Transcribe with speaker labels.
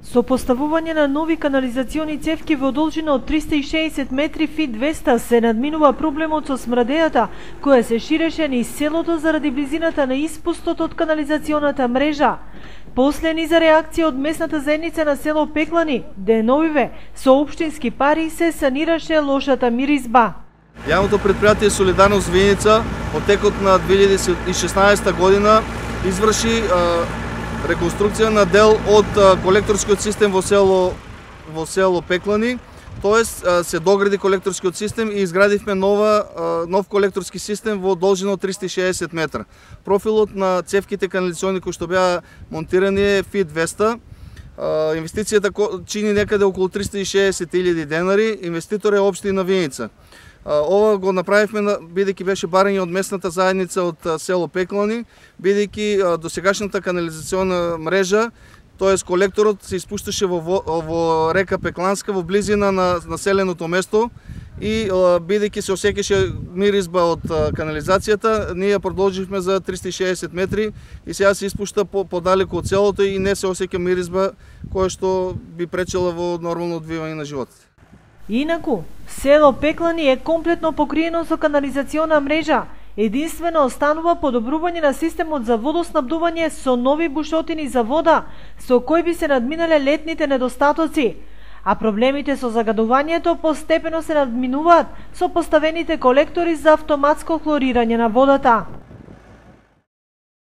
Speaker 1: Со поставување на нови канализациони цевки во должина од 360 метри фит 200 се надминува проблемот со смрадејата, која се ширеше низ селото заради близината на испустот од канализационата мрежа. После низа реакција од местната заедница на село Пеклани, деновиве со општински пари се санираше лошата миризба.
Speaker 2: Јавното предпријатие Солидарност Виница во текот на 2016 година изврши реконструкција на дел од колекторскиот систем во село Пеклани, тоест се догради колекторскиот систем и изградивме нов колекторски систем во должина од 360 метра. Профилот на цевките канализациони кои што беа монтирани е фит 200. Инвестицијата чини некаде околу 360.000 денари, инвеститор е општина Виница. Ова го направивме бидејќи беше барање од местната заедница од село Пеклани, бидејќи досегашната канализациона мрежа, тоест колекторот се испушташе во река Пекланска во близина на населеното место и бидејќи се осеќаше миризба од канализацијата, ние продолживме за 360 метри и сега се испушта подалеку од селото и не се осеќа миризба која што би пречела во нормално одвивање на животите.
Speaker 1: Инаку, село Пеклани е комплетно покриено со канализациона мрежа. Единствено останува подобрување на системот за водоснабдување со нови бушотини за вода, со кои би се надминале летните недостатоци. А проблемите со загадувањето постепено се надминуваат со поставените колектори за автоматско хлорирање на водата.